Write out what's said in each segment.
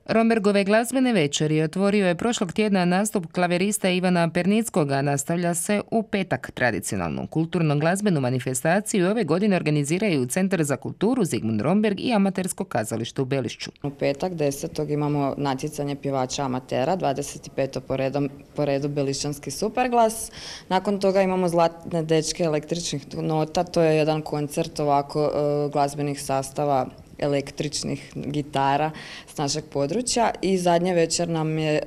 Rombergove glazbene večeri otvorio je prošlog tjedna nastup klaverista Ivana Pernickoga. Nastavlja se u petak. Tradicionalnu kulturno-glazbenu manifestaciju ove godine organiziraju Centar za kulturu Zigmund Romberg i amatersko kazalište u Belišću. U petak 10. imamo natjecanje pjevača amatera, 25. po redu Belišćanski superglas. Nakon toga imamo Zlatne dečke električnih nota, to je jedan koncert ovako glazbenih sastava električnih gitara s našeg područja i zadnja večer nam je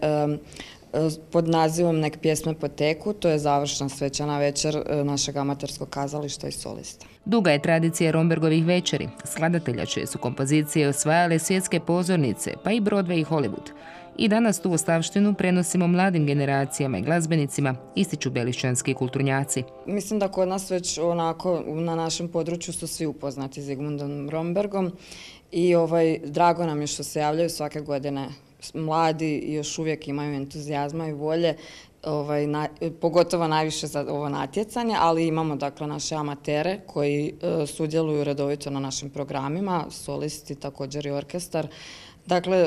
pod nazivom Nek pjesme poteku, to je završna svečana večer našeg amaterskog kazališta i solista. Duga je tradicija Rombergovih večeri. Skladatelja čije su kompozicije osvajale svjetske pozornice, pa i Broadway i Hollywood. I danas tu ostavštinu prenosimo mladim generacijama i glazbenicima, ističu belišćanski kulturnjaci. Mislim da kod nas već onako na našem području su svi upoznati Zigmundom Rombergom i drago nam je što se javljaju svake godine mladi i još uvijek imaju entuzijazma i volje, pogotovo najviše za ovo natjecanje, ali imamo dakle naše amatere koji sudjeluju redovito na našim programima, solisti, također i orkestar. Dakle,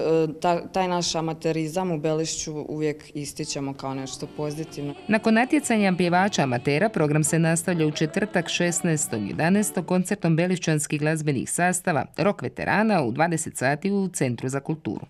taj naš amaterizam u Belišću uvijek ističemo kao nešto pozitivno. Nakon natjecanja pjevača amatera, program se nastavlja u četvrtak 16.11. koncertom belišćanskih glazbenih sastava Rok veterana u 20 sati u Centru za kulturu.